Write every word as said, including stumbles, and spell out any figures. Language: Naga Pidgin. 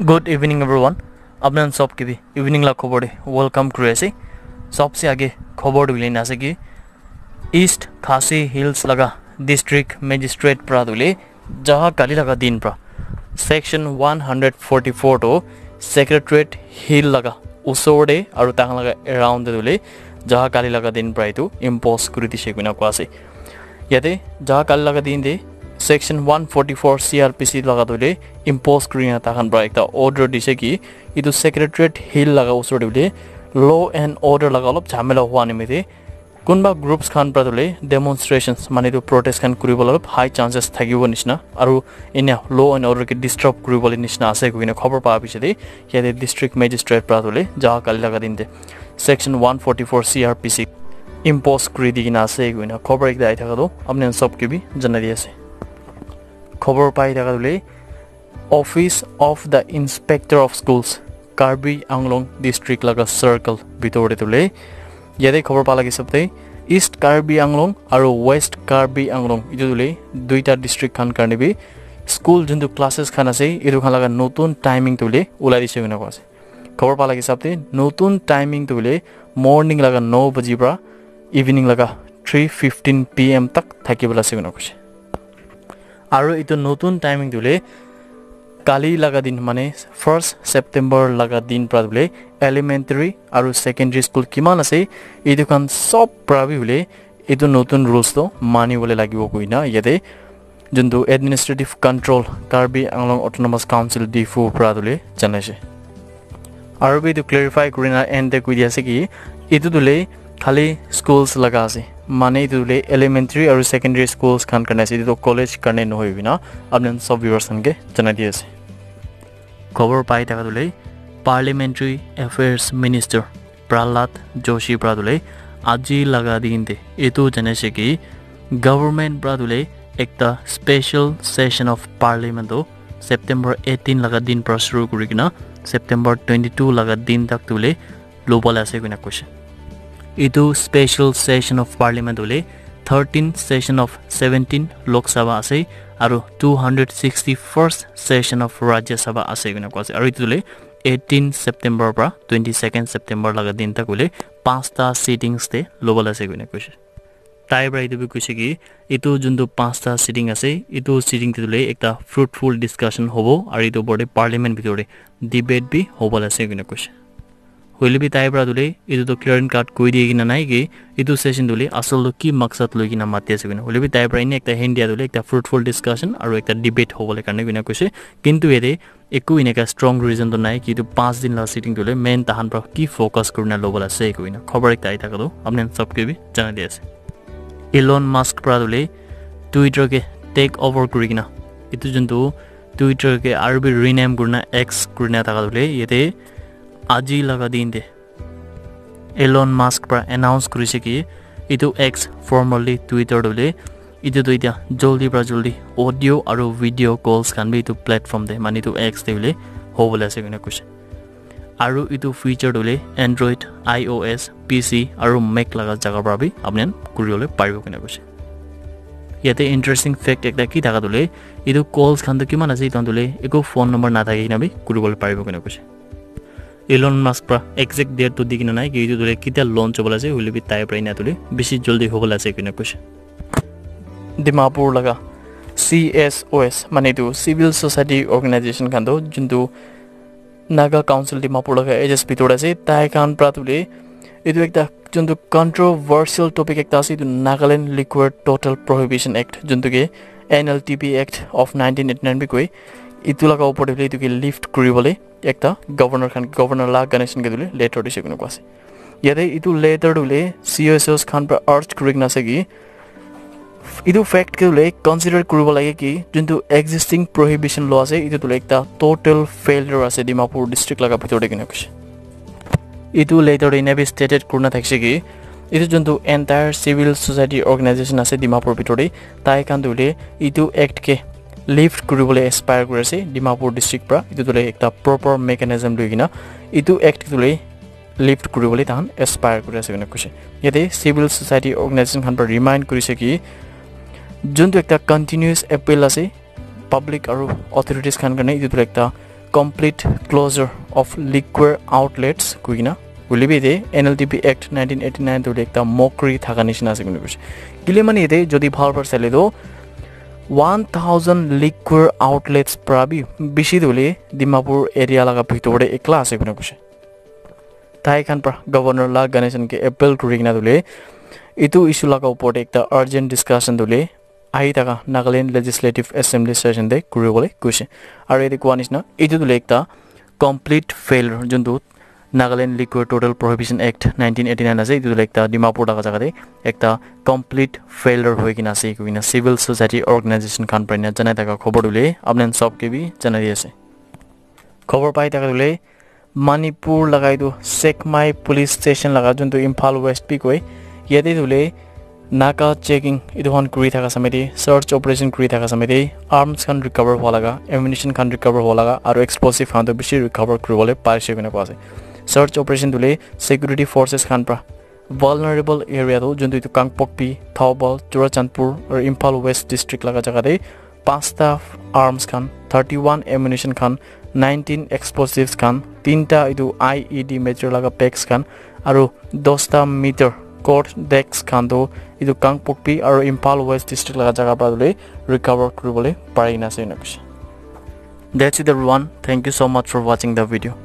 Good evening everyone. Apnan sob ke bhi evening la khobor de welcome kuri ase. Sobse age khobor de hoile na ase ki East Khasi Hills laga district magistrate pra dule jaha kali laga din pra section one hundred forty-four to Secretariat Hill laga usor de aru tang laga around de dule jaha kali laga din pra itu impose kuri dise koina koa ase. Yate jaha kali laga din de section one forty-four C R P C laga dule impose kuri na tahan pra ekta order dise ki itu Secretariat Hill laga usor de bole law and order laga olop jhamela hua nimite kunba groups khan pra dule demonstrations mane itu protest khan kuribo olop high chances thakibo nishina aru enia law and order ke disturb kuribo le nishina ase koina khobor pa bichare yate district magistrate pra dule jaha kali laga din de section one forty-four C R P C impose kuri di kena ase koina khobor ekta ai thaka to apni khan sob ke bi janai di ase. Khobor pai thaka dule Office of the Inspector of Schools Karbi Anglong district laga circle bitor de dule yate khobor pa lagi sabte East Karbi Anglong aru West Karbi Anglong itu dule duita district khan karne bi school juntu classes khan ase itu khan laga notun timing dule ulai dise koina koa ase. Khobor pa lagi sabte notun timing dule morning laga no baji pra evening laga three fifteen P M tak thaki bola ase koina koise. Aru itu notun timing dule kali laga din mane first September laga din pra dule elementary aru secondary school kiman ase itu khan sob pra bi bole itu notun rules to mani bole lagibo koina yate juntu administrative control Karbi Anglong Autonomous Council Diphu pra dule janaise. Aru bi itu clarify kurina end te koi di ase ki itu dule khali schools laga ase mane itu dule elementary aru secondary schools khan karne ase itu college karne nohoi bina apni khan sob viewers khan ke janai di ase. Khobor pai thaka dule Parliamentary Affairs Minister Prahlad Joshi pra dule aji laga din te itu janaise ki government pra dule ekta special session of parliament to September eighteen laga din pra shuru kuri kena September twenty-two laga din tak dule lobole ase koina koise. Itu special session of parliament hole thirteen session of seventeen Lok Sabha ase aru two hundred sixty-first session of Rajya Sabha ase koina koa ase aru itu hole eighteen September pra twenty-second September laga din tak hole panchta sittings te lobole ase koina koise. Tai pra itu bi koise ki itu juntu panchta sitting ase itu sitting te hole ekta fruitful discussion hobo aru itu opor te parliament bitor te debate bi hobo la ase koina koise. Hoile bi tai pra dule itu to clear and cut koi diye kina nai ki itu session dule asal to ki maksad loi kina mati ase koina. Hoile bi tai pra ine ekta hint dia dule ekta fruitful discussion aru ekta debate hobo le karne koina koise. Kintu yate eku eneka strong reason to nai ki itu panch din la sitting dule main tahan pra ki focus kurina lobo la ase koina khobor ekta ai thaka to apni khan sob ke bi janai di ase. Elon Musk pra dule Twitter ke take over kuri kina itu juntu Twitter ke aru bi rename kurina X kurina thaka dule yate aji laga din te Elon Musk pra announce kurise ki itu X formerly Twitter dule itu to itya joldi pra joldi audio aru video calls khan bi itu platform te mane itu X te bole hobole ase koina koise. Aru itu feature tu hoile Android, I O S, P C aru Mac laga jaga pra bi apni khan kuri bole paribo koina koise. Yate interesting fact ekta ki thaka tu hoile itu calls khan tu kiman ase itu khan tu hoile eku phone number nathaki kena bi kuri bole paribo koina koise. Elon Musk pra exact date tu di kena nai ki itu tu hoile kitia launch hobole ase hoile bi tai pra ina tu hoile bishi joldi hobole ase koina koise. Dimapur laga C S O S mane itu civil society organization khan tu juntu Naga Council Dimapur laga A G S bhitor te ase tai khan pra tu hoile itu ekta juntu controversial topic ekta ase itu Nagaland Liquor Total Prohibition Act juntu ke N L T P Act of nineteen eighty nine bi koi itu laga upor te hoile itu ke lift kuri bole ekta governor khan governor La Ganesan ke tu hoile letter dise koina koa ase. Yate itu letter tu hoile C S O S khan pra urge kuri kena ase ki itu fact ke hoile consider kuribo lage ki juntu existing prohibition law ase itu tu hoile ekta total failure ase Dimapur district laga bhitor te koina koise. Itu letter te ena bi stated kurina thakise ki itu juntu entire civil society organization ase Dimapur bhitor te tai khan tu hoile itu act ke lift kuribole aspire kuri ase Dimapur district pra itu tu hoile ekta proper mechanism loi kena itu act tu hoile lift kuribole tahan aspire kuri ase koina koise. Yate civil society organization khan pra remind kurise ki juntu ekta continuous appeal ase public aru authorities khan karne itu tu ekta complete closure of liquor outlets koikena, hoile bi ete N L T B Act nineteen eighty nine tu hoile ekta mockery thaka nishina ase koina koise. Kile mane ete jodi bhal para sale tu one thousand liquor outlets para bi bishi tu hoile Dimapur area laga bhitor te ekla ase koina koise. Tai khan para Governor La Ganesan ke appeal kuri kena tu hoile etu issue laga upor te ekta urgent discussion tu hoile ahi thaka Nagaland Legislative Assembly session te kuri bole koise. Aru ete koa nishina etu tu hoile ekta complete failure, juntu Nagaland Liquor Total Prohibition Act nineteen eighty nine ase, etu tu hoile ekta Dimapur laga jaga te ekta complete failure hoi kena ase koina civil society organization khan para ena janai thaka khobor tu hoile apni khan sob ke bi janai di ase. Khobor pai thaka tu hoile Manipur laga etu Sekmai Police Station laga, juntu Imphal West bi koi, yate tu hoile naka checking etu khan kuri thaka samay te, search operation kuri thaka samay te arms khan recover hua laga, ammunition khan recover hua laga aru explosive khan tu bishi recover kuri bole parise koina koa ase. Search operation tu hoile security forces khan para vulnerable area tu juntu etu Kangpokpi, Thoubal, Churachandpur aru Imphal West district laga jaga te pasta arms khan, thirty one ammunition khan, nineteen explosives khan, tinta etu I E D material laga packs khan aru dosta meter court decks khan tu etu Kangpokpi aru Imphal West district laga jaga para tu hoile recover kuri bole pari na ase koina koise. That's it everyone. Thank you so much for watching the video.